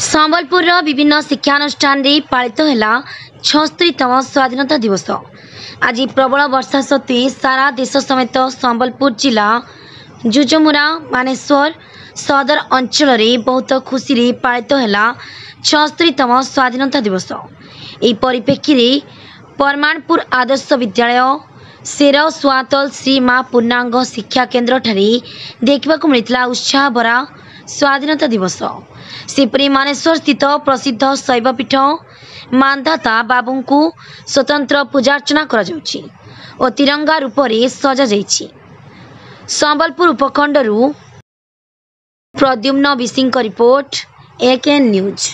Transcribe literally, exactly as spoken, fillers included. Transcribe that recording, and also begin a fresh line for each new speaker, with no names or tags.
ସମ୍ବଲପୁରର ବିଭିନ୍ନ ଶିକ୍ଷାନୁଷ୍ଠାନରେ ପାଳିତ ହେଲା ଛଅସ୍ତରୀତମ ସ୍ୱାଧୀନତା ଦିବସ। ଆଜି ପ୍ରବଳ ବର୍ଷା ସତ୍ତ୍ୱେ ସାରା ଦେଶ ସମେତ ସମ୍ବଲପୁର ଜିଲ୍ଲା ଯୁଯୋମୁରା, ମାନେଶ୍ୱର ସଦର ଅଞ୍ଚଳରେ ବହୁତ ଖୁସିରେ ପାଳିତ ହେଲା ଛଅସ୍ତରୀତମ ସ୍ୱାଧୀନତା ଦିବସ। ଏହି ପରିପ୍ରେକ୍ଷୀରେ ପରମାନପୁର ଆଦର୍ଶ ବିଦ୍ୟାଳୟ, ସେର ସୁଆତଲ ଶ୍ରୀ ମା ପୂର୍ଣ୍ଣାଙ୍ଗ ଶିକ୍ଷା କେନ୍ଦ୍ରଠାରେ ଦେଖିବାକୁ ମିଳିଥିଲା ଉତ୍ସାହଭରା ସ୍ୱାଧୀନତା ଦିବସ। ସେହିପରି ମାନେଶ୍ୱର ସ୍ଥିତ ପ୍ରସିଦ୍ଧ ଶୈବପୀଠ ମାନ୍ଧାତା ବାବୁଙ୍କୁ ସ୍ୱତନ୍ତ୍ର ପୂଜାର୍ଚ୍ଚନା କରାଯାଉଛି ଓ ତିରଙ୍ଗା ରୂପରେ ସଜାଯାଇଛି। ସମ୍ବଲପୁର ଉପଖଣ୍ଡରୁ ପ୍ରଦ୍ୟୁମ୍ନ ବିଶିଙ୍କ ରିପୋର୍ଟ, ଏକେଏନ୍ ନ୍ୟୁଜ୍।